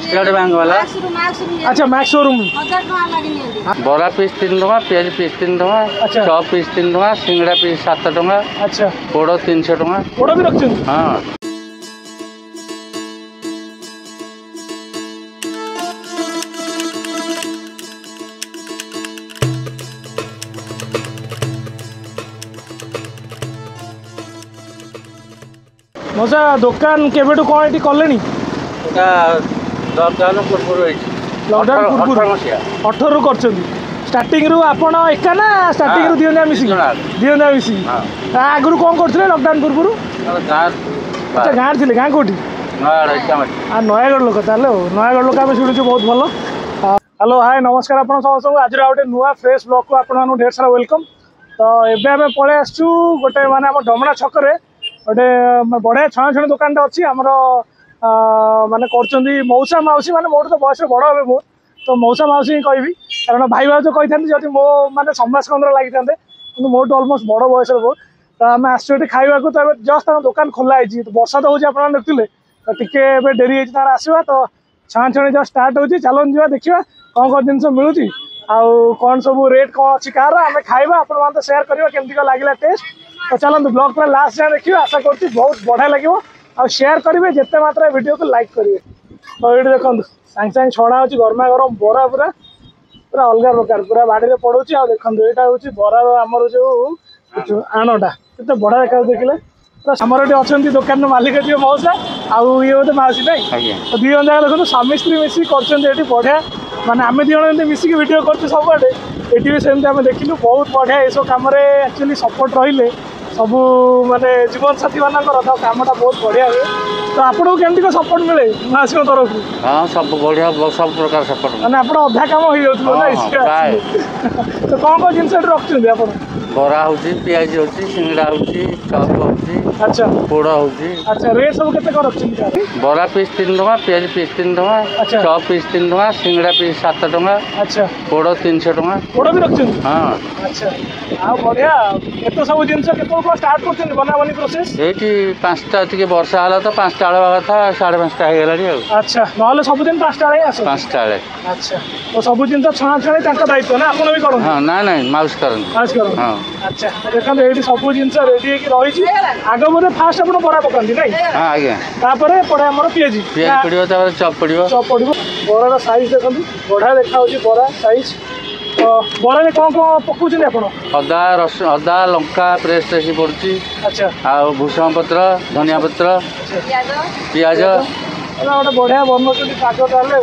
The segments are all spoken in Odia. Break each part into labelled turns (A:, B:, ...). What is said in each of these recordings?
A: ଷ୍ଟେଟ୍ ବ୍ୟାଙ୍କ ବାଲା।
B: ଆଚ୍ଛା, ମ୍ୟାକ୍ସ ଶୋରୁମ୍।
A: ବରା ପିସ୍ 3 ଟଙ୍କା, ପିଆଜି ପିସ୍ 3 ଟଙ୍କା, ଚପ୍ ପିସ୍ 3 ଟଙ୍କା, ସିଙ୍ଗଡ଼ା ପିସ୍ 7 ଟଙ୍କା। ପୋଡ଼ 300 ଟଙ୍କା।
B: ପୋଡ଼ ବି ରଖିଛନ୍ତି?
A: ହଁ।
B: ମଉସା, ଦୋକାନ କେବେଠୁ କ'ଣ ଏଠି କଲେଣି?
A: ଏଟା ଲକଡାଉନ ପୂର୍ବରୁ ହେଇଛି।
B: ଲକଡାଉନ ପୂର୍ବରୁ?
A: ମସିହା।
B: 18ରୁ କରିଛନ୍ତି। ଷ୍ଟାର୍ଟିଂରୁ ଆପଣ ଏକା ନା ଷ୍ଟାର୍ଟିଂରୁ
A: ହଁ,
B: ଦି ଜଣ ମିଶିକି?
A: ଦି ଜଣ।
B: ଦି ଜଣ ମିଶିକି।
A: ହଁ।
B: ତା ଆଗରୁ କ'ଣ କରୁଥିଲେ ଲକଡାଉନ ପୂର୍ବରୁ?
A: ଗାଁ।
B: ଆଚ୍ଛା, ଗାଁରେ ଥିଲେ। ଗାଁ କୋଉଠି?
A: ନୟାଗଡ଼, ଇଟାମାଟି।
B: ଆଉ ନୟାଗଡ଼ ଲୋକ ତାହେଲେ। ଆଉ ନୟାଗଡ଼ ଲୋକ ଆମେ ଶୁଣିଛୁ ବହୁତ ଭଲ। ହ୍ୟାଲୋ, ହାଏ, ନମସ୍କାର ଆପଣ ସମସ୍ତଙ୍କୁ। ଆଜିର ଆଉ ଗୋଟେ ନୂଆ ଫ୍ରେଶ୍ ବ୍ଲଗ୍କୁ ଆପଣମାନଙ୍କୁ ଢେର ସାରା welcome. ତ ଏବେ ଆମେ ପଳେଇ ଆସିଛୁ ଗୋଟେ ମାନେ ଆମ ଡମଣା ଛକରେ ଗୋଟେ ବଢ଼ିଆ ଛଣାଛଣି ଦୋକାନଟା ଅଛି ଆମର। ମାନେ କରୁଛନ୍ତି ମଉସା ମାଉସୀ, ମାନେ ମୋଠୁ ତ ବୟସରେ ବଡ଼ ହେବେ ବହୁତ, ତ ମଉସା ମାଉସୀ ହିଁ କହିବି, କାରଣ ଭାଇ ଭାଉଜ କହିଥାନ୍ତି ଯଦି ମୋ ମାନେ ସମାଜକନ୍ଦର ଲାଗିଥାନ୍ତେ, କିନ୍ତୁ ମୋଠୁ ଅଲମୋଷ୍ଟ ବଡ଼ ବୟସରେ ବହୁତ। ତ ଆମେ ଆସିଛୁ ଏଠି ଖାଇବାକୁ। ତ ଏବେ ଜଷ୍ଟ ତାଙ୍କ ଦୋକାନ ଖୋଲା ହେଇଛି। ତ ବର୍ଷା ତ ହେଉଛି ଆପଣମାନେ ଦେଖୁଥିଲେ, ତ ଟିକେ ଏବେ ଡେରି ହେଇଛି ତାର ଆସିବା। ତ ଛଣାଛଣି ଜଷ୍ଟ ଷ୍ଟାର୍ଟ ହେଉଛି, ଚାଲନ୍ତୁ ଯିବା, ଦେଖିବା କ'ଣ କ'ଣ ଜିନିଷ ମିଳୁଛି ଆଉ କ'ଣ ସବୁ ରେଟ୍ କ'ଣ ଅଛି କାହାର। ଆମେ ଖାଇବା, ଆପଣମାନେ ତ ସେୟାର କରିବା କେମିତି କ'ଣ ଲାଗିଲା ଟେଷ୍ଟ। ତ ଚାଲନ୍ତୁ ବ୍ଲଗ୍ ପୁରା ଲାଷ୍ଟ ଯାଏଁ ଦେଖିବେ, ଆଶା କରୁଛି ବହୁତ ବଢ଼ିଆ ଲାଗିବ। ଆଉ ସେୟାର କରିବେ ଯେତେ ମାତ୍ରାରେ, ଭିଡ଼ିଓକୁ ଲାଇକ୍ କରିବେ। ତ ଏଇଠି ଦେଖନ୍ତୁ, ସାଙ୍ଗେ ସାଙ୍ଗେ ଛଣା ହେଉଛି ଗରମା ଗରମ ବରା, ପୁରା ପୁରା ଅଲଗା ପ୍ରକାର, ପୁରା ବାଡ଼ିରେ ପଡ଼ୁଛି। ଆଉ ଦେଖନ୍ତୁ, ଏଇଟା ହେଉଛି ବରାର ଆମର ଯୋଉ ଆଣଟା, କେତେ ବଢ଼ିଆ ଦେଖାଯାଉଛି ଦେଖିଲେ। ତ ଆମର ଏଠି ଅଛନ୍ତି ଦୋକାନର ମାଲିକ ଯିଏ ମଉସା, ଆଉ ଇଏ ବୋଧେ ମାଉସୀ ନାଇଁ?
A: ଆଜ୍ଞା।
B: ତ ଦି ଜଣ ଯାକ ଦେଖନ୍ତୁ, ସ୍ୱାମୀ ସ୍ତ୍ରୀ ମିଶିକି କରୁଛନ୍ତି ଏଠି ବଢ଼ିଆ। ମାନେ ଆମେ ଦି ଜଣ ଏମିତି ମିଶିକି ଭିଡ଼ିଓ କରୁଛୁ ସବୁଆଡ଼େ, ଏଠି ବି ସେମିତି ଆମେ ଦେଖିଲୁ ବହୁତ ବଢ଼ିଆ। ଏସବୁ କାମରେ ଆକ୍ଚୁଆଲି ସପୋର୍ଟ ରହିଲେ ସବୁ ମାନେ ଜୀବନସାଥୀ ମାନଙ୍କର, ତ କାମଟା ବହୁତ ବଢ଼ିଆ ହୁଏ। ତ ଆପଣଙ୍କୁ କେମିତି କ'ଣ ସପୋର୍ଟ ମିଳେ ମାଉସୀଙ୍କ ତରଫରୁ?
A: ହଁ, ସବୁ ବଢ଼ିଆ, ସବୁ ପ୍ରକାର ସପୋର୍ଟ।
B: ମାନେ ଆପଣ ଅଧା କାମ ହେଇଯାଉଥିବ ନା?
A: ହଁ, ପ୍ରାୟ।
B: ତ କ'ଣ କ'ଣ ଜିନିଷ ଏଠି ରଖୁଛନ୍ତି ଆପଣ?
A: ବରା ହେଉଛି, ପିଆଜି ହେଉଛି, ସିଙ୍ଗଡ଼ା ହେଉଛି, ଚପ୍ ହେଉଛି, ପୋଡ଼ ହେଉଛି।
B: ଆଚ୍ଛା, ରେଟ୍ ସବୁ କେତେ କ'ଣ ରଖୁଛନ୍ତି ତାର?
A: ବରା ପିସ୍ 3 ଟଙ୍କା, ପିଆଜି ପିସ୍ 3 ଟଙ୍କା, ଚପ୍ ପିସ୍ 3 ଟଙ୍କା, ସିଙ୍ଗଡ଼ା ପିସ୍ 7 ଟଙ୍କା, ପୋଡ଼ 300 ଟଙ୍କା।
B: ପୋଡ଼ ବି ରଖୁଛନ୍ତି?
A: ହଁ।
B: ଆଚ୍ଛା, ଆଉ ବଢ଼ିଆ। ଏତେ ସବୁ ଜିନିଷ କେତେବେଳେ କ'ଣ ଷ୍ଟାର୍ଟ କରୁଛନ୍ତି ବନାବନି ପ୍ରୋସେସ୍?
A: ଏଇଠି 5ଟା, ଟିକେ ବର୍ଷା ହେଲା ତ 5ଟା ବେଳେ ହେବା କଥା, 5:30 ହେଇଗଲାଣି ଆଉ।
B: ଆଚ୍ଛା, ନହେଲେ ସବୁଦିନ 5ଟା ବେଳେ ହିଁ ଆସନ୍ତି?
A: 5ଟା ବେଳେ।
B: ଆଚ୍ଛା, ତ ସବୁ ଜିନିଷ ଛଣାଛଣି ତାଙ୍କ ଦାୟିତ୍ୱ ନା ଆପଣ ବି କରନ୍ତି?
A: ହଁ, ନାଇଁ ନାଇଁ, ମାଉସୀ କରନ୍ତି।
B: ମାଉସୀ କରନ୍ତି।
A: ହଁ।
B: ଆଚ୍ଛା, ତ ଦେଖନ୍ତୁ ଏଇଠି ସବୁ ଜିନିଷ ରେଡି ହେଇକି ରହିଛି। ଆଗ ବୋଧେ ଫାଷ୍ଟ ଆପଣ ବରା ପକାନ୍ତି ନାଇଁ?
A: ହଁ ଆଜ୍ଞା।
B: ତାପରେ ପଡ଼େ ଆମର ପିଆଜି।
A: ପିଆଜି ପଡ଼ିବ, ତାପରେ ଚପ୍ ପଡ଼ିବ।
B: ଚପ୍ ପଡ଼ିବ। ବରାର ସାଇଜ୍ ଦେଖନ୍ତୁ, ବଢ଼ିଆ ଦେଖାଯାଉଛି ବରା ସାଇଜ୍। ତ ବରାରେ କ'ଣ କ'ଣ ପକାଉଛନ୍ତି ଆପଣ?
A: ଅଦା ରସୁଣ, ଅଦା ଲଙ୍କା ପେଷ୍ଟ ହେଇକି ପଡ଼ୁଛି। ଆଉ ଭୃଷଙ୍ଗ ପତ୍ର, ଧନିଆ ପତ୍ର, ପିଆଜ।
B: ଏଟା ଗୋଟେ ବଢ଼ିଆ ବନଉଛନ୍ତି ପାଗ ତାହେଲେ।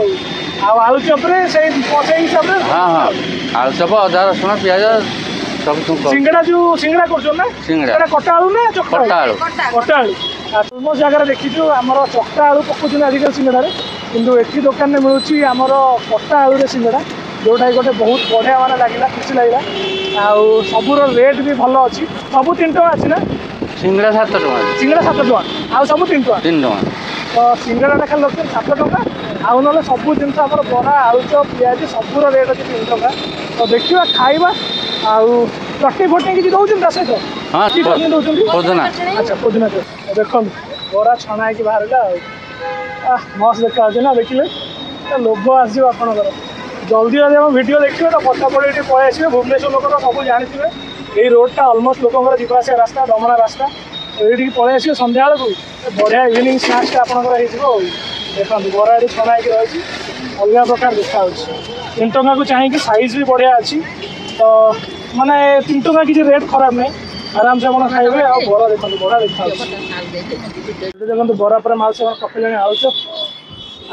B: ଆଉ ଆଳୁ ଚପରେ ସେଇ ସେଇ ହିସାବରେ?
A: ହଁ ହଁ, ଆଳୁ ଚପ ଅଦା ରସୁଣ ପିଆଜ ସବୁ ଛୁଙ୍କ।
B: ସିଙ୍ଗଡ଼ା ଯୋଉ ସିଙ୍ଗଡ଼ା କରୁଛନ୍ତି ନା?
A: ସିଙ୍ଗଡ଼ା।
B: ଏଟା କଟା ଆଳୁ ନା ଚକଟା?
A: କଟା ଆଳୁ।
B: କଟା ଆଳୁ। ଅଲମୋଷ୍ଟ ଜାଗାରେ ଦେଖିଛୁ ଆମର ଚକଟା ଆଳୁ ପକାଉଛନ୍ତି ଆଜିକାଲି ସିଙ୍ଗଡ଼ାରେ, କିନ୍ତୁ ଏଠି ଦୋକାନରେ ମିଳୁଛି ଆମର କଟା ଆଳୁରେ ସିଙ୍ଗଡ଼ା, ଯୋଉଟାକି ଗୋଟେ ବହୁତ ବଢ଼ିଆ ମାନେ ଲାଗିଲା, ଖୁସି ଲାଗିଲା। ଆଉ ସବୁର ରେଟ୍ ବି ଭଲ ଅଛି। ସବୁ 3 ଟଙ୍କା ଅଛି ନା?
A: ସିଙ୍ଗଡ଼ା 7 ଟଙ୍କା।
B: ସିଙ୍ଗଡ଼ା 7 ଟଙ୍କା, ଆଉ ସବୁ 3 ଟଙ୍କା?
A: 3 ଟଙ୍କା।
B: ତ ସିଙ୍ଗଡ଼ାଟା ଖାଲି ରଖୁଛନ୍ତି 7 ଟଙ୍କା, ଆଉ ନହେଲେ ସବୁ ଜିନିଷ ଆମର ବରା, ଆଳୁଚପ, ପିଆଜି ସବୁର ରେଟ୍ ଅଛି 3 ଟଙ୍କା। ତ ଦେଖିବା, ଖାଇବା। ଆଉ ଚଟଣି ଫଟଣି କିଛି ଦେଉଛନ୍ତି ତା ସହିତ?
A: ହଁ।
B: କି ଚଟଣି ଦେଉଛନ୍ତି?
A: ପୋଦିନା।
B: ଆଚ୍ଛା, ପୋଦିନା ଚଟଣି। ଦେଖନ୍ତୁ, ବରା ଛଣା ହେଇକି ବାହାରିଲା। ଆଉ ମସ୍ତ ଦେଖାଯାଉଛି ନା ଦେଖିଲେ, ତ ଲୋଭ ଆସିଯିବ ଆପଣଙ୍କର। ଜଲ୍ଦି ଜଲ୍ଦି ଆମ ଭିଡ଼ିଓ ଦେଖିବେ ତ ଫଟାଫଟ ଏଠି ପଳେଇ ଆସିବେ। ଭୁବନେଶ୍ୱର ଲୋକ ତ ସବୁ ଜାଣିଥିବେ, ଏଇ ରୋଡ଼ଟା ଅଲମୋଷ୍ଟ ଲୋକଙ୍କର ଯିବା ଆସିବା ରାସ୍ତା, ଡମଣା ରାସ୍ତା। ଏଇଠିକି ପଳେଇ ଆସିବେ ସନ୍ଧ୍ୟାବେଳକୁ, ବଢ଼ିଆ ଇଭିନିଂ ସ୍ନାକ୍ସଟା ଆପଣଙ୍କର ହେଇଯିବ। ଆଉ ଦେଖନ୍ତୁ, ବରା ଏଠି ଛଣା ହେଇକି ରହିଛି, ଅଲଗା ପ୍ରକାର ଦେଖାଯାଉଛି। 3 ଟଙ୍କାକୁ ଚାହିଁକି ସାଇଜ୍ ବି ବଢ଼ିଆ ଅଛି। ତ ମାନେ 3 ଟଙ୍କା କିଛି ରେଟ୍ ଖରାପ ନାହିଁ, ଆରାମସେ ଆପଣ ଖାଇବେ। ଆଉ ବରା ଦେଖନ୍ତୁ, ବରା ଦେଖାଯାଉଛି ଏଠି। ଦେଖନ୍ତୁ, ବରା ପରେ ମାଉସୀ ଆପଣ ପକେଇଲେଣି ଆଳୁଚପ।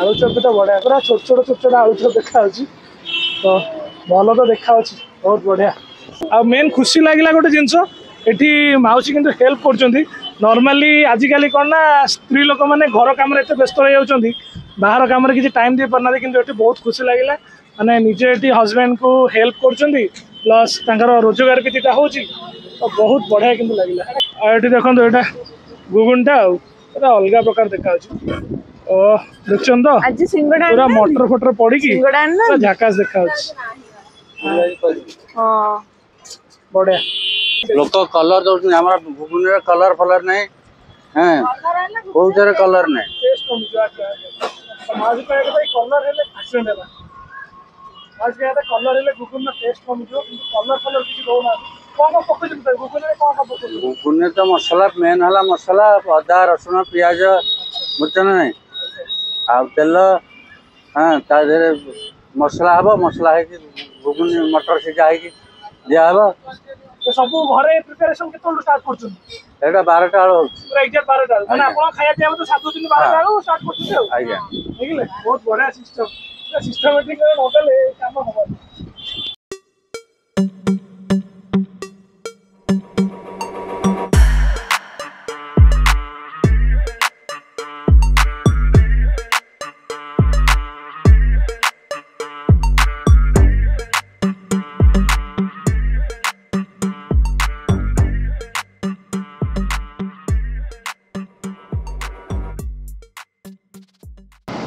B: ଆଳୁଚପ ବି ତ ବଢ଼ିଆ, ପୁରା ଛୋଟ ଛୋଟ ଛୋଟ ଛୋଟ ଆଳୁଚପ ଦେଖାଯାଉଛି। ତ ଭଲ ତ ଦେଖାଯାଉଛି, ବହୁତ ବଢ଼ିଆ। ଆଉ ମେନ୍ ଖୁସି ଲାଗିଲା ଗୋଟେ ଜିନିଷ, ଏଠି ମାଉସୀ କିନ୍ତୁ ହେଲ୍ପ କରୁଛନ୍ତି। ନର୍ମାଲି ଆଜିକାଲି କ'ଣ ନା ସ୍ତ୍ରୀ ଲୋକମାନେ ଘର କାମରେ ଏତେ ବ୍ୟସ୍ତ ରହିଯାଉଛନ୍ତି, ବାହାର କାମରେ କିଛି ଟାଇମ୍ ଦେଇପାରୁନାହାନ୍ତି, କିନ୍ତୁ ଏଠି ବହୁତ ଖୁସି ଲାଗିଲା, ମାନେ ନିଜେ ଏଠି ହଜବେଣ୍ଡକୁ ହେଲ୍ପ କରୁଛନ୍ତି, ପ୍ଲସ୍ ତାଙ୍କର ରୋଜଗାର ବି ଦୁଇଟା ହେଉଛି। ତ ବହୁତ ବଢ଼ିଆ କିନ୍ତୁ ଲାଗିଲା। ଆଉ ଏଠି ଦେଖନ୍ତୁ, ଏଇଟା ଘୁଗୁନିଟା, ଆଉ ପୁରା ଅଲଗା ପ୍ରକାର ଦେଖାଯାଉଛି। ଓ ଦେଖୁଛନ୍ତି ତ?
C: ଆଜି ସିଙ୍ଗଡ଼ା।
B: ପୁରା ମଟର ଫଟର ପଡ଼ିକି
C: ସିଙ୍ଗଡ଼ା ଆଣିନା?
B: ପୁରା ଝାକାସ ଦେଖାଯାଉଛି।
C: ହଁ।
B: ବଢ଼ିଆ।
A: ଲୋକ କଲର ଦଉଛନ୍ତି, ଆମର ଘୁଗୁନିରେ କଲର ଫଲର ନାହିଁ। ହଁ, କୋଉଥିରେ କଲର ନାହିଁ।
B: ଟେଷ୍ଟ କମିଯିବ। ଆଚ୍ଛା, ମାଉସୀ କହିବା କଥା ଏଇ କଲର୍ ହେଲେ ଆକ୍ସିଡେଣ୍ଟ ହେଲା। ମାଉସୀ କହିବା କଥା କଲର୍ ହେଲେ ଘୁଗୁନିର ଟେଷ୍ଟ କମିଯିବ, କିନ୍ତୁ କଲର୍ ଫଲର୍ କିଛି ଦଉନାହାନ୍ତି। କ'ଣ କ'ଣ ପକଉଛନ୍ତି ସାର୍ ଘୁଗୁନିରେ? କ'ଣ କ'ଣ ପକଉଛନ୍ତି
A: ଘୁଗୁନିରେ? ତ ମସଲା ମେନ୍ ହେଲା, ମସଲା ଅଦା ରସୁଣ ପିଆଜ, ବୁଝୁଛ ନା ନାଇଁ, ଆଉ ତେଲ। ହଁ, ତା ଦେହରେ ମସଲା ହବ, ମସଲା ହେଇକି ଘୁଗୁନି ମଟର ସିଝା ହେଇକି ଦିଆହବ।
B: ସବୁ ଘରେ ପ୍ରିପାରେସନ କେତେବେଳୁ ଷ୍ଟାର୍ଟ କରୁଛନ୍ତି?
A: ଏଇଟା 12ଟା ବେଳୁ ହଉଛି।
B: ପୁରା ଏକ୍ଜାକ୍ଟ 12ଟା ବେଳୁ? ମାନେ ଆପଣ ଖାଇବା ପିଇବା ତ 7 ଦିନ 12ଟା ବେଳୁ ଷ୍ଟାର୍ଟ କରୁଛନ୍ତି ଆଉ?
A: ଆଜ୍ଞା।
B: ବୁଝିଲେ, ବହୁତ ବଢିଆ ସିଷ୍ଟମ। ସିଷ୍ଟମେଟିକ ନଦେଲେ କାମ ହବନି।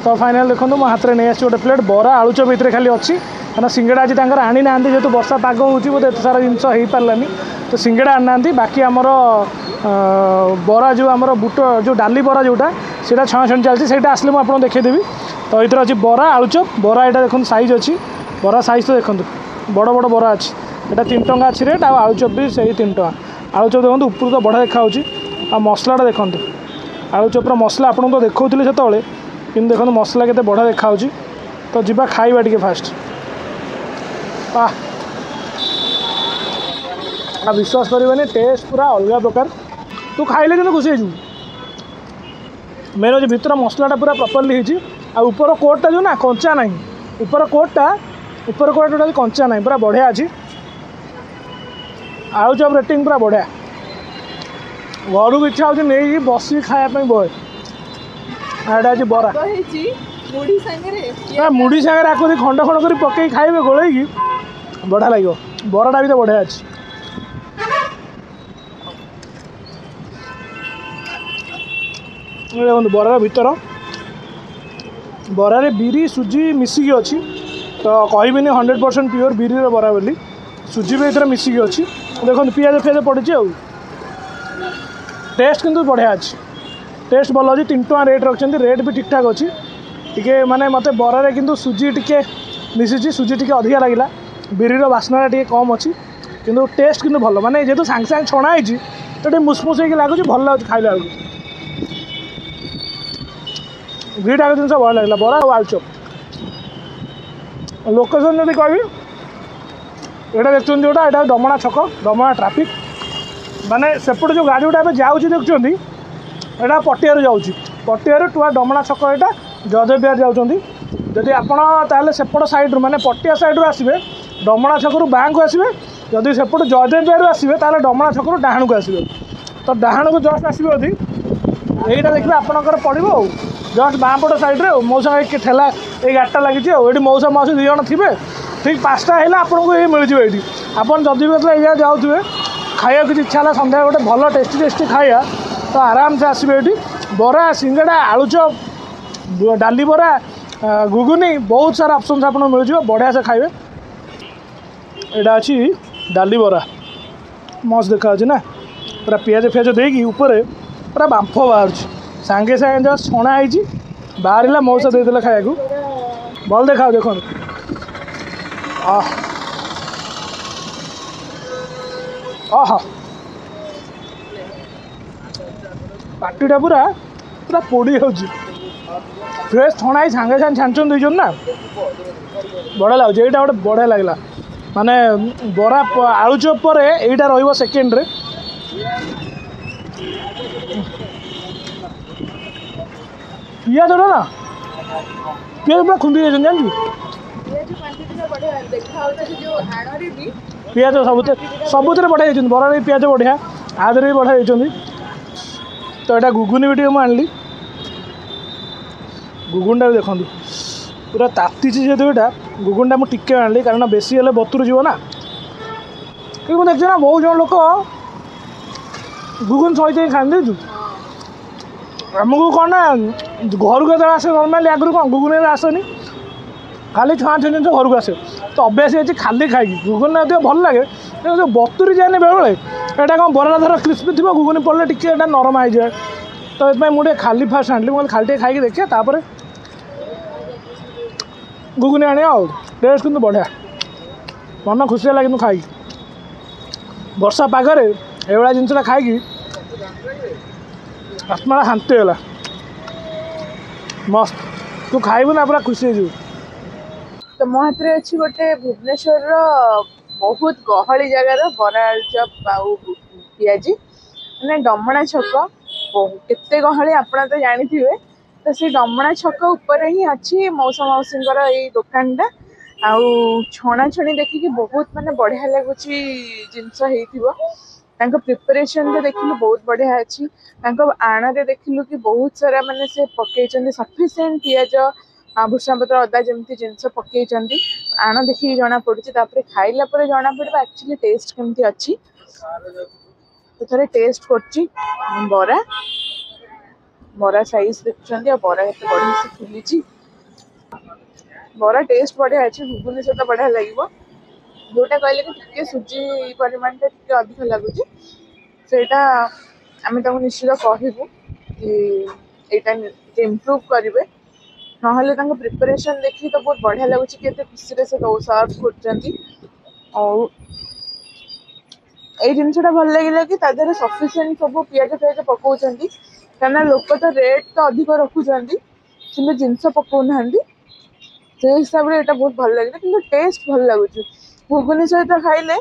B: ତ ଫାଇନାଲ୍ ଦେଖନ୍ତୁ, ମୋ ହାତରେ ନେଇ ଆସିଛି ଗୋଟେ ପ୍ଲେଟ୍ ବରା ଆଳୁଚପ ଭିତରେ ଖାଲି ଅଛି, କାରଣ ସିଙ୍ଗଡ଼ା ଆଜି ତାଙ୍କର ଆଣିନାହାନ୍ତି। ଯେହେତୁ ବର୍ଷା ପାଗ ହେଉଛି, ବୋଧେ ଏତେ ସାରା ଜିନିଷ ହେଇପାରିଲାନି, ତ ସିଙ୍ଗଡ଼ା ଆଣିନାହାନ୍ତି। ବାକି ଆମର ବରା ଯେଉଁ ଆମର ବୁଟ ଯେଉଁ ଡାଲି ବରା ଯେଉଁଟା, ସେଇଟା ଛଣାଛଣି ଚାଲିଛି। ସେଇଟା ଆସିଲେ ମୁଁ ଆପଣଙ୍କୁ ଦେଖେଇଦେବି। ତ ଏଇଥିରେ ଅଛି ବରା ଆଳୁଚପ। ବରା ଏଇଟା ଦେଖନ୍ତୁ ସାଇଜ୍ ଅଛି, ବରା ସାଇଜ୍ ତ ଦେଖନ୍ତୁ, ବଡ଼ ବଡ଼ ବରା ଅଛି। ଏଇଟା 3 ଟଙ୍କା ଅଛି ରେଟ୍, ଆଉ ଆଳୁଚପ ବି ସେଇ 3 ଟଙ୍କା। ଆଳୁଚପ ଦେଖନ୍ତୁ, ଉପରୁ ତ ବଢ଼ିଆ ଦେଖାହେଉଛି। ଆଉ ମସଲାଟା ଦେଖନ୍ତୁ, ଆଳୁଚପର ମସଲା ଆପଣଙ୍କୁ ତ ଦେଖାଉଥିଲି ସେତେବେଳେ, କିନ୍ତୁ ଦେଖନ୍ତୁ ମସଲା କେତେ ବଢ଼ିଆ ଦେଖାହେଉଛି। ତ ଯିବା ଖାଇବା ଟିକେ ଫାଷ୍ଟ। ଆଉ ବିଶ୍ୱାସ କରିବେନି, ଟେଷ୍ଟ ପୁରା ଅଲଗା ପ୍ରକାର। ତୁ ଖାଇଲେ କିନ୍ତୁ ଖୁସି ହେଇଯିବୁ। ମେନ୍ ହେଉଛି ଭିତର ମସଲାଟା ପୁରା ପ୍ରପରଲି ହେଇଛି, ଆଉ ଉପର କୋଟ୍ଟା ଯେଉଁ ନା କଞ୍ଚା ନାହିଁ। ଉପର କୋଟ୍ଟା ଟୋଟାଲି କଞ୍ଚା ନାହିଁ, ପୁରା ବଢ଼ିଆ ଅଛି। ଆଳୁଚପ ରେଟିଂ ପୁରା ବଢ଼ିଆ। ଘରକୁ ଇଚ୍ଛା ହେଉଛି ନେଇକି ବସିକି ଖାଇବା ପାଇଁ ବହେ। ଏଇଟା ଅଛି ବରା। ମୁଢ଼ି ସାଙ୍ଗରେ ଆକୁ ଯଦି ଖଣ୍ଡ ଖଣ୍ଡ କରି ପକେଇ ଖାଇବେ ଗୋଳେଇକି, ବଢ଼ିଆ ଲାଗିବ। ବରାଟା ବି ତ ବଢ଼ିଆ ଅଛି। ଦେଖନ୍ତୁ ବରାର ଭିତର, ବରାରେ ବିରି ସୁଜି ମିଶିକି ଅଛି। ତ କହିବିନି 100% ପିଓର ବିରିର ବରା ବୋଲି, ସୁଜି ବି ଏଥିରେ ମିଶିକି ଅଛି। ଦେଖନ୍ତୁ ପିଆଜ ଫିଆଜ ପଡ଼ିଛି, ଆଉ ଟେଷ୍ଟ କିନ୍ତୁ ବଢ଼ିଆ ଅଛି। ଟେଷ୍ଟ ଭଲ ଅଛି। 3 ଟଙ୍କା ରେଟ୍ ରଖିଛନ୍ତି, ରେଟ୍ ବି ଠିକ୍ଠାକ୍ ଅଛି। ଟିକେ ମାନେ ମୋତେ ବରାରେ କିନ୍ତୁ ସୁଜି ଟିକେ ମିଶିଛି, ସୁଜି ଟିକେ ଅଧିକା ଲାଗିଲା, ବିରିର ବାସ୍ନାଟା ଟିକେ କମ୍ ଅଛି, କିନ୍ତୁ ଟେଷ୍ଟ କିନ୍ତୁ ଭଲ। ମାନେ ଯେହେତୁ ସାଙ୍ଗେ ସାଙ୍ଗେ ଛଣା ହେଇଛି, ତ ଟିକେ ମୁସମୁସ ହେଇକି ଲାଗୁଛି, ଭଲ ଲାଗୁଛି ଖାଇଲା ବେଳକୁ। ଦୁଇଟା ଜିନିଷ ଭଲ ଲାଗିଲା, ବରା ଆଉ ଆଳୁଚପ। ଲୋକେସନ୍ ଯଦି କହିବି, ଏଇଟା ଦେଖୁଛନ୍ତି ଯେଉଁଟା, ଏଇଟା ଡମଣା ଛକ, ଡମଣା ଟ୍ରାଫିକ୍। ମାନେ ସେପଟେ ଯେଉଁ ଗାଡ଼ି ଗୁଡ଼ା ଏବେ ଯାଉଛି ଦେଖୁଛନ୍ତି, ଏଇଟା ପଟିଆରୁ ଯାଉଛି, ପଟିଆରୁ ଟୁଆ ଡମଣା ଛକ, ଏଇଟା ଜୟଦେବ ବିହାର ଯାଉଛନ୍ତି। ଯଦି ଆପଣ ତାହେଲେ ସେପଟ ସାଇଡ଼୍ରୁ, ମାନେ ପଟିଆ ସାଇଡ଼୍ରୁ ଆସିବେ, ଡମଣା ଛକରୁ ବାଁକୁ ଆସିବେ। ଯଦି ସେପଟୁ ଜୟଦେବ ବିହାରରୁ ଆସିବେ, ତାହେଲେ ଡମଣା ଛକରୁ ଡାହାଣକୁ ଆସିବେ। ତ ଡାହାଣକୁ ଜଷ୍ଟ ଆସିବେ ଯଦି, ଏଇଟା ଦେଖିବେ ଆପଣଙ୍କର ପଡ଼ିବ, ଆଉ ଜଷ୍ଟ ବାଁ ପଟ ସାଇଡ଼୍ରେ। ଆଉ ମଉସା ଠେଲା ଏଇ ଗାଡ଼ିଟା ଲାଗିଛି, ଆଉ ଏଇଠି ମଉସା ମାଉସୀ 2 ଜଣ ଥିବେ। ଠିକ୍ 5ଟା ହେଲେ ଆପଣଙ୍କୁ ଏଇ ମିଳିଯିବ ଏଇଠି। ଆପଣ ଯଦି ବି ଏଇ ଜାଗା ଯାଉଥିବେ, ଖାଇବାକୁ କିଛି ଇଚ୍ଛା ହେଲା ସନ୍ଧ୍ୟା, ଗୋଟେ ଭଲ ଟେଷ୍ଟି ଟେଷ୍ଟି ଖାଇବା, ତ ଆରାମସେ ଆସିବେ ଏଇଠି। ବରା, ସିଙ୍ଗଡ଼ା, ଆଳୁଚପ, ଡାଲି ବରା, ଘୁଗୁନି, ବହୁତ ସାରା ଅପସନ୍ସ ଆପଣଙ୍କୁ ମିଳିଯିବ। ବଢ଼ିଆ ସେ ଖାଇବେ। ଏଇଟା ଅଛି ଡାଲି ବରା, ମସ୍ତ ଦେଖାଯାଉଛି ନା? ପୁରା ପିଆଜ ଫିଆଜ ଦେଇକି ଉପରେ ପୁରା ବାମ୍ଫ ବାହାରୁଛି। ସାଙ୍ଗେ ସାଙ୍ଗେ ଜଷ୍ଟ ଛଣା ହେଇଛି, ବାହାରିଲା, ମଉସା ଦେଇଦେଲେ ଖାଇବାକୁ। ଭଲ ଦେଖାଯାଉଛି ଦେଖନ୍ତୁ। ଅହ, ପାଟିଟା ପୁରା ପୁରା ପୋଡ଼ି ଯାଉଛି। ଫ୍ରେଶ୍ ଛଣା ହେଇ ସାଙ୍ଗେ ସାଙ୍ଗେ ଛାଣିଛନ୍ତି, ଦେଇଛନ୍ତି ନା, ବଢ଼ିଆ ଲାଗୁଛି। ଏଇଟା ଗୋଟେ ବଢ଼ିଆ ଲାଗିଲା। ମାନେ ବରା ଆଳୁଚପ ପରେ ଏଇଟା ରହିବ ସେକେଣ୍ଡରେ। ପିଆଜଟା ନା, ପିଆଜ ପୁରା ଖୁନ୍ଦି ଯାଇଛନ୍ତି, ଜାଣିଛୁ? ପିଆଜ ସବୁଥିରେ ବଢ଼ିଆ ହେଇଛନ୍ତି। ବରାରେ ବି ପିଆଜ ବଢ଼ିଆ, ଆଦେହରେ ବି ବଢ଼ିଆ ହେଇଛନ୍ତି। ତ ଏଇଟା ଘୁଗୁନି ବି ଟିକେ ମୁଁ ଆଣିଲି। ଘୁଗୁନିଟା ବି ଦେଖନ୍ତୁ, ପୁରା ତାତିଛି ଯେହେତୁ ଏଇଟା। ଘୁଗୁନିଟା ମୁଁ ଟିକେ ଆଣିଲି, କାରଣ ବେଶୀ ହେଲେ ବତୁରି ଯିବ ନା। କିନ୍ତୁ ମୁଁ ଦେଖିଛି ନା, ବହୁତ ଜଣ ଲୋକ ଘୁଗୁନି ସହିତ ହିଁ ଖାଆନ୍ତି, ଦେଖିଛୁ? ଆମକୁ କ'ଣ ନା, ଘରକୁ ଯେତେବେଳେ ଆସେ ନର୍ମାଲି, ଆଗରୁ କ'ଣ ଘୁଗୁନି ଆସେନି, ଖାଲି ଛଣା ଛଣି ଜିନିଷ ଘରକୁ ଆସେ, ତ ଅଭ୍ୟାସ ହେଇଛି ଖାଲି ଖାଇକି। ଘୁଗୁନି ଅଧିକ ଭଲ ଲାଗେ, କିନ୍ତୁ ଯେଉଁ ବତୁରି ଯାଏନି ବେଳେବେଳେ। ଏଇଟା କ'ଣ ବରାଟା ଧର କ୍ରିସ୍ପି ଥିବ, ଘୁଗୁନି ପଡ଼ିଲେ ଟିକେ ଏଇଟା ନରମ ହେଇଯାଏ। ତ ଏଥିପାଇଁ ମୁଁ ଟିକେ ଖାଲି ଫାଷ୍ଟ ଆଣିଲି। ମୁଁ କହିଲି ଖାଲି ଟିକେ ଖାଇକି ଦେଖିବା ତାପରେ। ଘୁଗୁନି ଆଣିବା ଆଉ। ଟେଷ୍ଟ କିନ୍ତୁ ବଢ଼ିଆ, ମନ ଖୁସି ହେଲା କିନ୍ତୁ ଖାଇକି। ବର୍ଷା ପାଗରେ ଏଇଭଳିଆ ଜିନିଷଟା ଖାଇକି ଆତ୍ମାଟା ଶାନ୍ତି ହେଇଗଲା। ମସ୍ତ, ତୁ ଖାଇବୁ ନା ପୁରା ଖୁସି ହେଇଯିବୁ।
C: ତ ମୋ ହାତରେ ଅଛି ଗୋଟେ ଭୁବନେଶ୍ୱରର ବହୁତ ଗହଳି ଜାଗାର ବରା ଆଳୁଚପ ଆଉ ପିଆଜି, ମାନେ ଡମଣା ଛକ। କେତେ ଗହଳି ଆପଣ ତ ଜାଣିଥିବେ। ତ ସେଇ ଡମଣା ଛକ ଉପରେ ହିଁ ଅଛି ମଉସା ମାଉସୀଙ୍କର ଏଇ ଦୋକାନଟା। ଆଉ ଛଣାଛଣି ଦେଖିକି ବହୁତ ମାନେ ବଢ଼ିଆ ଲାଗୁଛି ଜିନିଷ ହେଇଥିବ। ତାଙ୍କ ପ୍ରିପାରେସନ୍ଟା ଦେଖିଲୁ ବହୁତ ବଢ଼ିଆ ଅଛି। ତାଙ୍କ ଆଣରେ ଦେଖିଲୁ କି ବହୁତ ସାରା ମାନେ ସେ ପକେଇଛନ୍ତି ସଫିସିଏଣ୍ଟ ପିଆଜ, ଭୃଷଙ୍ଗ ପତ୍ର, ଅଦା ଯେମିତି ଜିନିଷ ପକେଇଛନ୍ତି। ଆଣ ଦେଖିକି ଜଣା ପଡୁଛି, ତାପରେ ଖାଇଲା ପରେ ଜଣା ପଡ଼ିବ ଆକ୍ଚୁଆଲି ଟେଷ୍ଟ କେମିତି ଅଛି। ତ ଥରେ ଟେଷ୍ଟ କରୁଛି ବରା। ବରା ସାଇଜ ଦେଖୁଛନ୍ତି ଆଉ ବରା କେତେ ବଢ଼ିଆ ସେ ଫୁଲିଛି। ବରା ଟେଷ୍ଟ ବଢ଼ିଆ ଅଛି, ଘୁଗୁନି ସହିତ ବଢ଼ିଆ ଲାଗିବ। ଯୋଉଟା କହିଲେ କି ଟିକେ ସୁଜି ପରିମାଣଟା ଟିକେ ଅଧିକ ଲାଗୁଛି, ସେଇଟା ଆମେ ତାଙ୍କୁ ନିଶ୍ଚିତ କହିବୁ କି ଏଇଟା ଟିକେ ଇମ୍ପ୍ରୁଭ୍ କରିବେ। ନହେଲେ ତାଙ୍କ ପ୍ରିପାରେସନ୍ ଦେଖିକି ତ ବହୁତ ବଢ଼ିଆ ଲାଗୁଛି କି ଏତେ ଖୁସିରେ ସେ ସର୍ଭ କରୁଛନ୍ତି। ଆଉ ଏଇ ଜିନିଷଟା ଭଲ ଲାଗିଲା କି ତା ଦେହରେ ସଫିସିଏଣ୍ଟ ସବୁ ପିଆଜ ଫିଆଜ ପକଉଛନ୍ତି, କାହିଁକିନା ଲୋକ ତ ରେଟ୍ ତ ଅଧିକ ରଖୁଛନ୍ତି କିନ୍ତୁ ଜିନିଷ ପକଉନାହାନ୍ତି। ସେଇ ହିସାବରେ ଏଇଟା ବହୁତ ଭଲ ଲାଗିଲା, କିନ୍ତୁ ଟେଷ୍ଟ ଭଲ ଲାଗୁଛି। ଘୁଗୁନି ସହିତ ଖାଇଲେ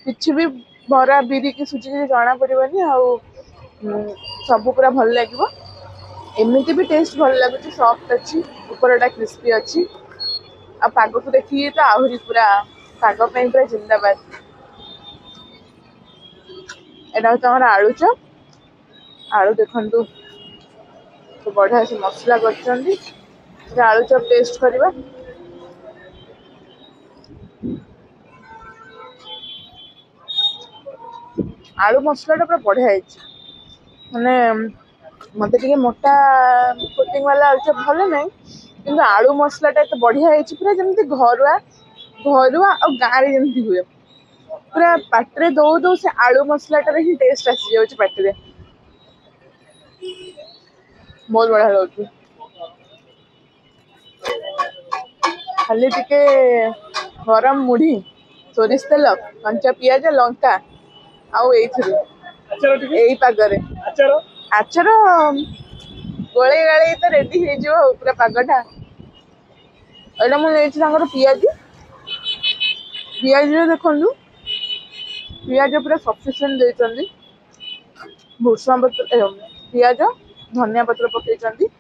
C: କିଛି ବି ବରା ବିରି କି ସୁଜି କିଛି ଜଣା ପଡ଼ିବନି, ଆଉ ସବୁ ପୁରା ଭଲ ଲାଗିବ। ଏମିତି ବି ଟେଷ୍ଟ ଭଲ ଲାଗୁଛି, ସଫ୍ଟ ଅଛି, ଉପରଟା କ୍ରିସ୍ପି ଅଛି। ଆଉ ପାଗକୁ ଦେଖିକି ତ ଆହୁରି ପୁରା ପାଗ ପାଇଁ ପୁରା ଜିନ୍ଦାବାଦ। ଏଇଟା ହେଉଛି ଆମର ଆଳୁଚପ। ଆଳୁ ଦେଖନ୍ତୁ ତ ବଢ଼ିଆ ସେ ମସଲା କରିଛନ୍ତି। ଆଳୁଚପ ଟେଷ୍ଟ କରିବା। ଆଳୁ ମସଲାଟା ପୁରା ବଢ଼ିଆ ହେଇଛି। ମାନେ ମତେ ଟିକେ ମୋଟା କୋଟିଂ ବାଲା ଆଳୁଚପ ଭଲ ନାହିଁ, କିନ୍ତୁ ଆଳୁ ମସଲାଟା ଏତେ ବଢ଼ିଆ ହେଇଛି, ପୁରା ଯେମିତି ଘରୁଆ ଘରୁଆ ଆଉ ଗାଁରେ ଯେମିତି ହୁଏ, ପୁରା ପାଟିରେ ଦଉ ଦଉ ସେ ଆଳୁ ମସଲାଟାରେ ହିଁ ଟେଷ୍ଟ ଆସିଯାଉଛି ପାଟିରେ। ବହୁତ ବଢ଼ିଆ ଲାଗୁଛି। ଖାଲି ଟିକେ ଗରମ ମୁଢ଼ି, ସୋରିଷ ତେଲ, କଞ୍ଚା ପିଆଜ, ଲଙ୍କା, ଆଉ ଏଇଥିରୁ ଏଇ ପାଗରେ ଆଚାର ଗୋଳେଇ ଗାଳେଇ ତ ରେଡି ହେଇଯିବ ଆଉ ପୁରା ପାଗଟା। ଏଇଟା ମୁଁ ନେଇଛି ତାଙ୍କର ପିଆଜି। ପିଆଜିରେ ଦେଖନ୍ତୁ ପିଆଜ ପୁରା ସଫିସିଏଣ୍ଟ ଦେଇଛନ୍ତି, ଭୃଷଙ୍ଗ ପତ୍ର, ପିଆଜ, ଧନିଆ ପତ୍ର ପକେଇଛନ୍ତି।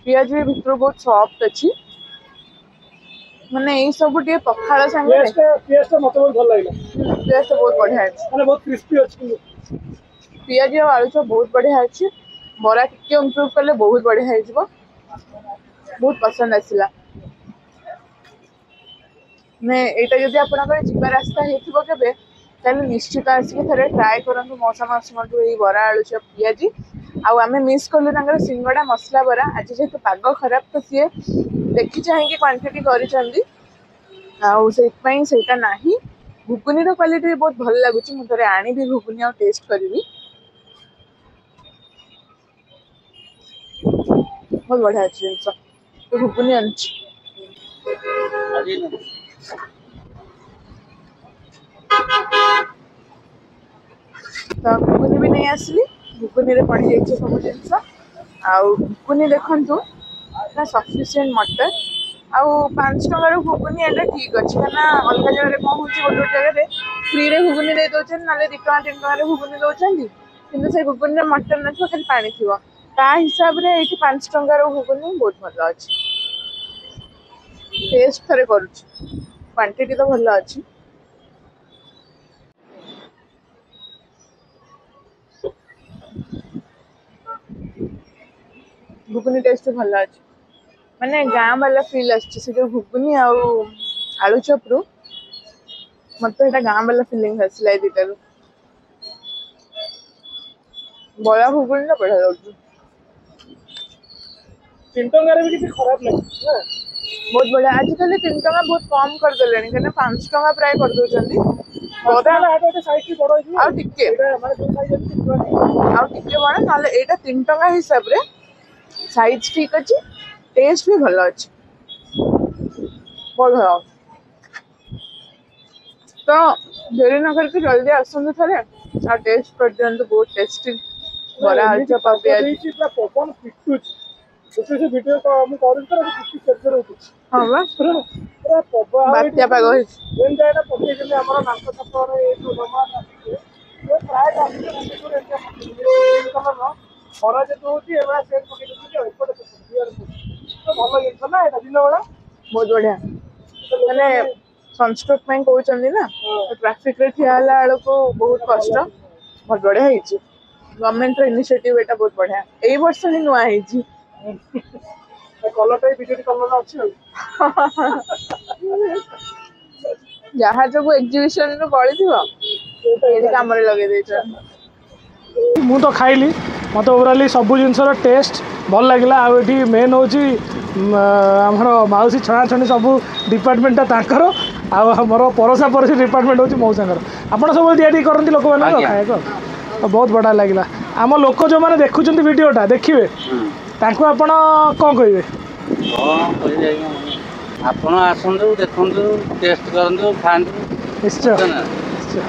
C: ପିଆଜ ବି ଭିତରୁ ବହୁତ ସଫ୍ଟ ଅଛି। ମାନେ ଏଇ ସବୁ ଟିକେ ପଖାଳ ସାଙ୍ଗରେ
B: ପିଆଜଟା ମତେ ବହୁତ ଭଲ ଲାଗିଲା।
C: ପିଆଜଟା ବହୁତ ବଢିଆ ଅଛି,
B: ମାନେ ବହୁତ କ୍ରିସ୍ପି ଅଛି।
C: ପିଆଜ ଆଉ ଆଳୁଚପ ବହୁତ ବଢିଆ ଅଛି। ବରା ଟିକେ ଇମ୍ପ୍ରୁଭ୍ କଲେ ବହୁତ ବଢିଆ ହେଇଯିବ। ବହୁତ ପସନ୍ଦ ଆସିଲା। ମାନେ ଏଇଟା ଯଦି ଆପଣଙ୍କର ଯିବା ରାସ୍ତା ହେଇଥିବ କେବେ, ତାହେଲେ ନିଶ୍ଚିତ ଆସିକି ଥରେ ଟ୍ରାଏ କରନ୍ତୁ ମଉସା ମାଉସୀଙ୍କଠୁ ଏଇ ବରା ଆଳୁଚପ ପିଆଜି। ଆଉ ଆମେ ମିସ୍ କଲୁ ତାଙ୍କର ସିଙ୍ଗଡ଼ା ମସଲା ବରା। ଆଜି ଯେହେତୁ ପାଗ ଖରାପ ତ ସିଏ ଦେଖି ଚାହିଁକି କ୍ୱାଣ୍ଟିଟି କରିଛନ୍ତି, ଆଉ ସେଇଥିପାଇଁ ସେଇଟା ନାହିଁ। ଘୁଗୁନିର କ୍ୱାଲିଟି ବି ବହୁତ ଭଲ ଲାଗୁଛି। ମୁଁ ଥରେ ଆଣିବି ଘୁଗୁନି ଆଉ ଟେଷ୍ଟ କରିବି। ବହୁତ ବଢ଼ିଆ ଅଛି ଜିନିଷ। ତ ଘୁଗୁନି ଆଣିଛି। ତ ଘୁଗୁନି ବି ନେଇ ଆସିଲି। ଘୁଗୁନିରେ ପଡ଼ିଯାଇଛି ସବୁ ଜିନିଷ। ଆଉ ଘୁଗୁନି ଦେଖନ୍ତୁ ନା ସଫିସିଏଣ୍ଟ ମଟର। ଆଉ 5 ଟଙ୍କାର ଘୁଗୁନି ଏଇଟା ଠିକ୍ ଅଛି, କାହିଁକିନା ଅଲଗା ଜାଗାରେ କ'ଣ ହେଉଛି, ଗୋଟେ ଗୋଟେ ଜାଗାରେ ଫ୍ରିରେ ଘୁଗୁନି ଦେଇ ଦେଉଛନ୍ତି, ନହେଲେ 2 ଟଙ୍କା 3 ଟଙ୍କାରେ ଘୁଗୁନି ଦେଉଛନ୍ତି, କିନ୍ତୁ ସେ ଘୁଗୁନିରେ ମଟର ନଥିବ, ଖାଲି ପାଣି ଥିବ। ତା ହିସାବରେ ଏଇଠି 5 ଟଙ୍କାର ଘୁଗୁନି ବହୁତ ଭଲ ଅଛି। ଟେଷ୍ଟ ଥରେ କରୁଛି, କ୍ୱାଣ୍ଟିଟି ତ ଭଲ ଅଛି। ଘୁଗୁନି ଟେଷ୍ଟ ଭଲ ଅଛି, ମାନେ ଗାଁ ବାଲା ଫିଲ୍ ଆସୁଛି ସେ ଯୋଉ ଘୁଗୁନି ଆଉ ଆଳୁଚପରୁ। ମତେ ଏଇଟା ଗାଁ ବାଲା ଫିଲିଙ୍ଗ ଆସିଲା ଏଇ ଦୁଇଟାରୁ। ବରା ଘୁଗୁନିଟା ବଢିଆ ଲାଗୁଛି।
B: 3 ଟଙ୍କାରେ ବି କିଛି ଖରାପ ନାହିଁ ନା?
C: ବହୁତ ବଢିଆ। ଆଜିକାଲି 3 ଟଙ୍କା ବହୁତ କମ କରିଦେଲେଣି, କାହିଁକିନା 5 ଟଙ୍କା ପ୍ରାୟ କରିଦଉଛନ୍ତି। ବରା ଆଉ ଟିକେ ଆଉ ଟିକେ ବଡ, ନହେଲେ ଏଇଟା 3 ଟଙ୍କା ହିସାବରେ ସାଇଜ ଠିକ ଅଛି, ଟେଷ୍ଟ ବି ଭଲ ଅଛି। ବହୁତ ଭଲ। ତ ଡେରି ନ କରିକି ଜଲ୍ଦି ଆସନ୍ତୁ ଥରେ ଆଉ ଟେଷ୍ଟ କରିଦିଅନ୍ତୁ, ବହୁତ ଟେଷ୍ଟି ବରା, ଆଳୁଚପ ଆଉ ପିଆଜି।
B: ଦେଇଛି, ପୁରା ପବନ ପିଟୁଛି। ଗୋଟେ ସେ ଭିଡିଓ ମୁଁ କରୁଛି ତ ଚୁଟି କେତେ ଉଠୁଛି।
C: ହଁ ବା।
B: ପୁରା ପବନ।
C: ବାତ୍ୟା ପାଗ ହେଇଛି।
B: ଯେମିତି ଏଇଟା ପକେଇଛନ୍ତି ଆମର ନାଙ୍କ ଛକରେ, ଏଇ ଯୋଉ ଜମା ଟ୍ରାଫିକରେ, ପ୍ରାୟ ଟ୍ରାଫିକରେ ଭୁବନେଶ୍ୱର ଏମିତିଆ ପକେଇଛନ୍ତି। କଲରର ଖରା ଯେହେତୁ ହଉଛି, ଏଭଳିଆ ସେଟ୍ ପକେଇ ଦଉଛନ୍ତି ଆଉ ଏପଟେ ସେପଟେ ଦୁଆରେ ତ। ଭଲ ଜିନିଷ ନା ଏଇଟା ଦିନ ବେଳା?
C: ବହୁତ ବଢିଆ। ମାନେ ସନଷ୍ଟ୍ରୋକ୍ ପାଇଁ କହୁଛନ୍ତି ନା, ଟ୍ରାଫିକରେ ଠିଆ ହେଲା ବେଳକୁ ବହୁତ କଷ୍ଟ। ବହୁତ ବଢିଆ ହେଇଛି। ଗଭର୍ଣ୍ଣମେଣ୍ଟର ଇନିସିଏଟିଭ ଏଇଟା ବହୁତ ବଢିଆ। ଏଇ ବର୍ଷ ହିଁ ନୂଆ ହେଇଛି।
B: କଲରଟା ବି ବିଜେଡି କଲର ଅଛି ଆଉ।
C: ଯାହା ସବୁ ଏକ୍ଜିବିସନ ରୁ ବଳିଥିବ, ଏଇଠି କାମରେ ଲଗେଇ ଦେଇଛନ୍ତି।
B: ମୁଁ ତ ଖାଇଲି, ମୋତେ ଓଭରାଲି ସବୁ ଜିନିଷର ଟେଷ୍ଟ ଭଲ ଲାଗିଲା। ଆଉ ଏଠି ମେନ୍ ହେଉଛି ଆମର ମାଉସୀ, ଛଣାଛଣି ସବୁ ଡିପାର୍ଟମେଣ୍ଟଟା ତାଙ୍କର, ଆଉ ଆମର ପରସା ପରସି ଡିପାର୍ଟମେଣ୍ଟ ହେଉଛି ମଉସାଙ୍କର। ଆପଣ ସବୁବେଳେ ଦିଆଦିଇ କରନ୍ତି ଲୋକମାନଙ୍କୁ
A: ଆଜ୍ଞା।
B: ଖାଇବାକୁ? ତ ବହୁତ ବଢ଼ିଆ ଲାଗିଲା। ଆମ ଲୋକ ଯେଉଁମାନେ ଦେଖୁଛନ୍ତି ଭିଡ଼ିଓଟା ଦେଖିବେ, ତାଙ୍କୁ ଆପଣ କ'ଣ କହିବେ?
A: କ'ଣ କହିବି ଆଜ୍ଞା, ଆପଣ ଆସନ୍ତୁ, ଦେଖନ୍ତୁ, ଟେଷ୍ଟ କରନ୍ତୁ, ଖାଆନ୍ତୁ।
B: ନିଶ୍ଚୟ।
A: ବୁଝୁଛ ନା?
B: ନିଶ୍ଚୟ।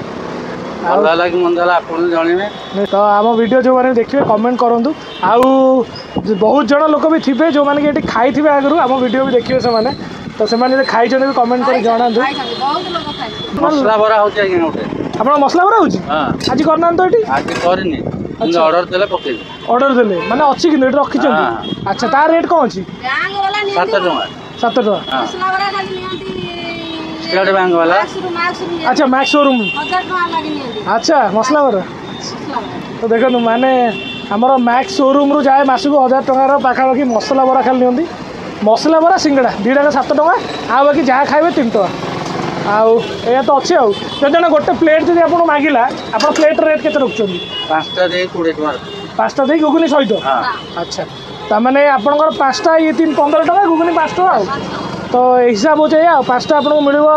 A: ଭଲ ହେଲା କି ମନ୍ଦ ହେଲା ଆପଣ ଜଣେଇବେ।
B: ତ ଆମ ଭିଡ଼ିଓ ଯେଉଁମାନେ ଦେଖିବେ, କମେଣ୍ଟ କରନ୍ତୁ। ଆଉ ବହୁତ ଜଣ ଲୋକ ବି ଥିବେ ଯେଉଁମାନେ କି ଏଠି ଖାଇଥିବେ ଆଗରୁ, ଆମ ଭିଡ଼ିଓ ବି ଦେଖିବେ ସେମାନେ। ତ ସେମାନେ ଯଦି ଖାଇଛନ୍ତି ବି କମେଣ୍ଟ କରି ଜଣାନ୍ତୁ।
A: ମସଲା ବରା ହଉଛି ଆଜ୍ଞା ଗୋଟେ।
B: ଆପଣ ମସଲା ବରା ହେଉଛି?
A: ହଁ।
B: ଆଜି କରିନାହାନ୍ତି ତ ଏଠି?
A: ଆଜି କରିନି କିନ୍ତୁ ଅର୍ଡର ଦେଲେ ପକେଇବି।
B: ଅର୍ଡର ଦେଲେ ମାନେ ଅଛି, କିନ୍ତୁ ଏଠି ରଖିଛନ୍ତି?
A: ହଁ।
B: ଆଚ୍ଛା, ତା ରେଟ୍ କ'ଣ ଅଛି?
A: 7 ଟଙ୍କା।
B: 7 ଟଙ୍କା?
A: ହଁ।
D: ମସଲା ବରା ଖାଲି ନିଅନ୍ତି।
A: ଷ୍ଟେଟ୍ ବ୍ୟାଙ୍କ ବାଲା।
D: ମାକ୍ସରୁ।
B: ଆଚ୍ଛା, ମ୍ୟାକ୍ସ ସୋରୁମ୍।
D: 1000 ଟଙ୍କା ଲାଗି ନିଅନ୍ତି।
B: ଆଚ୍ଛା, ମସଲା ବରା।
D: ମସଲା ବରା।
B: ତ ଦେଖନ୍ତୁ, ମାନେ ଆମର ମ୍ୟାକ୍ସ ସୋରୁମ୍ରୁ ଯାଏ ମାସକୁ 1000 ଟଙ୍କାର ପାଖାପାଖି ମସଲା ବରା ଖାଲି ନିଅନ୍ତି। ମସଲା ବରା, ସିଙ୍ଗଡ଼ା ଦୁଇଟାକ 7 ଟଙ୍କା, ଆଉ ବାକି ଯାହା ଖାଇବେ 3 ଟଙ୍କା। ଆଉ ଏଇଆ ତ ଅଛି। ଆଉ ଯଦି ଜଣେ ଗୋଟେ ପ୍ଲେଟ୍ ଯଦି ଆପଣଙ୍କୁ ମାଗିଲା, ଆପଣ ପ୍ଲେଟ୍ର ରେଟ୍ କେତେ ରଖୁଛନ୍ତି?
A: ପାଞ୍ଚଟା ଦେଇ 20 ଟଙ୍କା।
B: ପାଞ୍ଚଟା ଦେଇ ଘୁଗୁନି ସହିତ?
A: ହଁ।
B: ଆଚ୍ଛା, ତାମାନେ ଆପଣଙ୍କର ପାଞ୍ଚଟା ଇଏ 3 15 ଟଙ୍କା, ଘୁଗୁନି 5 ଟଙ୍କା। ଆଉ ତ ହିସାବ ହେଉଛି ଏଇଆ। ଆଉ ପାଞ୍ଚଟା ଆପଣଙ୍କୁ ମିଳିବ।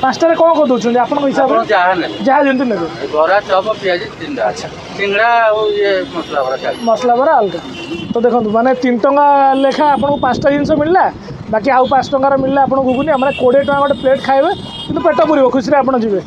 B: ପାଞ୍ଚଟାରେ କ'ଣ କ'ଣ ଦେଉଛନ୍ତି ଆପଣଙ୍କ
A: ଆପଣ
B: ହିସାବରେ?
A: ଯାହା ନେବେ।
B: ଯାହା ଯେମିତି ନେବେ।
A: ବରା, ଚପ, ପିଆଜି ତିନିଟା।
B: ଆଚ୍ଛା।
A: ସିଙ୍ଗଡ଼ା ଆଉ ଇଏ ମସଲା ବରା ଚାଲିଛି।
B: ମସଲା ବରା ଅଲଗା। ତ ଦେଖନ୍ତୁ, ମାନେ 3 ଟଙ୍କା ଲେଖା ଆପଣଙ୍କୁ ପାଞ୍ଚଟା ଜିନିଷ ମିଳିଲା, ବାକି ଆଉ 5 ଟଙ୍କାର ମିଳିଲା ଆପଣଙ୍କୁ ଘୁଗୁନି। ମାନେ 20 ଟଙ୍କା ଗୋଟେ ପ୍ଲେଟ୍ ଖାଇବେ, କିନ୍ତୁ ପେଟ ପୁରିବ, ଖୁସିରେ ଆପଣ ଯିବେ।